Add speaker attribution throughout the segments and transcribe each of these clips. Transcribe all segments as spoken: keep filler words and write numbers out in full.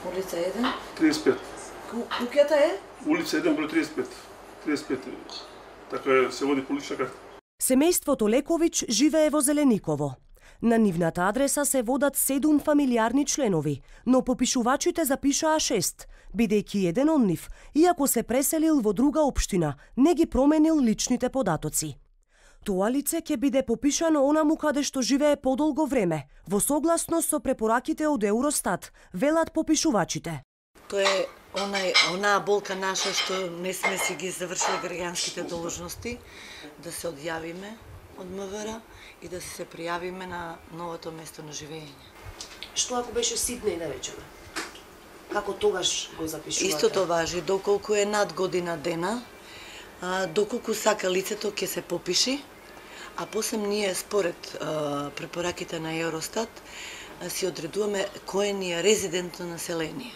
Speaker 1: Улица еден?
Speaker 2: триесет и пет.
Speaker 1: Куќата е?
Speaker 2: Улица еден, број триесет и пет. триесет и пет. Така се води по лична карта.
Speaker 3: Семејството Лековиќ живее во Зелениково. На нивната адреса се водат седум фамилиарни членови, но попишувачите запишаа шест, бидејќи еден од нив, иако се преселил во друга општина, не ги променил личните податоци. Тоа лице ќе биде попишано онаму каде што живее подолго време, во согласност со препораките од Евростат, велат попишувачите.
Speaker 1: Тоа е онај, онаа болка наша што не сме си ги завршили граѓанските должности, да се одјавиме од МВР и да се пријавиме на новото место на живење.
Speaker 4: Што ако беше Сиднеј, да речеме? Како тогаш го запишувате?
Speaker 1: Истото важи, доколку е над година дена, а, доколку сака лицето ќе се попиши, а после ние според а, препораките на Евростат а, си одредуваме кое ни е резидентно население.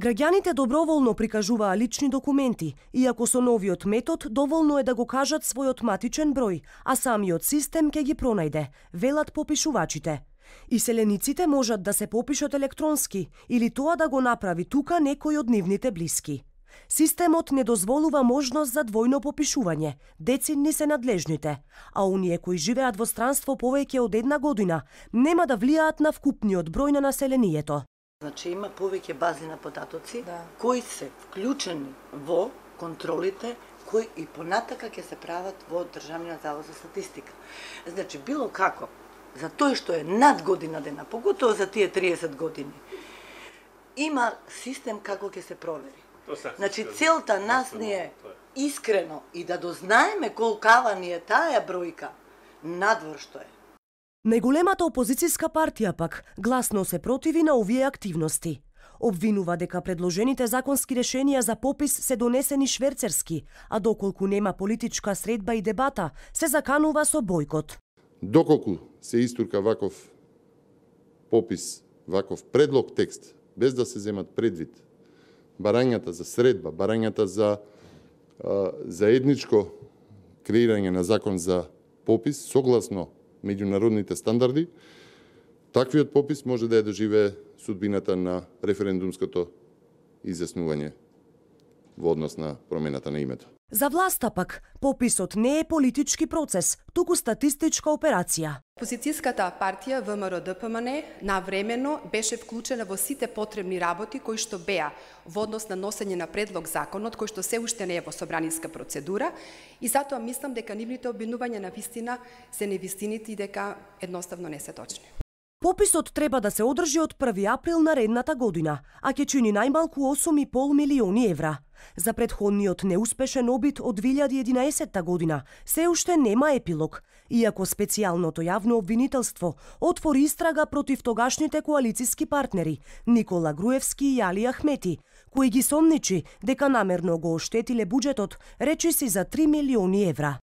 Speaker 3: Граѓаните доброволно прикажуваа лични документи, иако со новиот метод доволно е да го кажат својот матичен број, а самиот систем ќе ги пронајде, велат попишувачите. Иселениците можат да се попишат електронски или тоа да го направи тука некој од нивните блиски. Системот не дозволува можност за двојно попишување, децинни се надлежните, а оние кои живеат во странство повеќе од една година нема да влијаат на вкупниот број на населението.
Speaker 1: Значи има повеќе бази на податоци,
Speaker 4: да,
Speaker 1: кои се вклучени во контролите, кои и понатака ќе се прават во Државниот завод за статистика. Значи, било како, за тој што е над година дена, поготово за тие триесет години, има систем како ќе се провери. Значи, целта нас ни е искрено и да дознаеме колкава ни е таа бројка, надвор што е.
Speaker 3: Најголемата опозицијска партија пак гласно се противи на овие активности. Обвинува дека предложените законски решенија за попис се донесени шверцерски, а доколку нема политичка средба и дебата, се заканува со бојкот.
Speaker 5: Доколку се истурка ваков попис, ваков предлог текст, без да се земат предвид барањата за средба, барањата за а, заедничко креирање на закон за попис, согласно меѓународните стандарди, таквиот попис може да ја доживее судбината на референдумското изјаснување во однос на промената на името.
Speaker 3: За власта пак, пописот не е политички процес, туку статистичка операција.
Speaker 6: Опозицијската партија ВМРО-ДПМН навремено беше вклучена во сите потребни работи кои што беа во однос на носење на предлог законот, кој што се уште не е во собраниска процедура, и затоа мислам дека нивните обвинувања на вистина се невистините и дека едноставно не се точни.
Speaker 3: Пописот треба да се одржи од први април наредната година, а ќе чини најмалку осум и пол милиони евра. За претходниот неуспешен обид од две илјади и единаесетта година се уште нема епилог, иако специјалното јавно обвинителство отвори истрага против тогашните коалициски партнери Никола Груевски и Али Ахмети, кои ги сомничи дека намерно го оштетиле буџетот речиси за три милиони евра.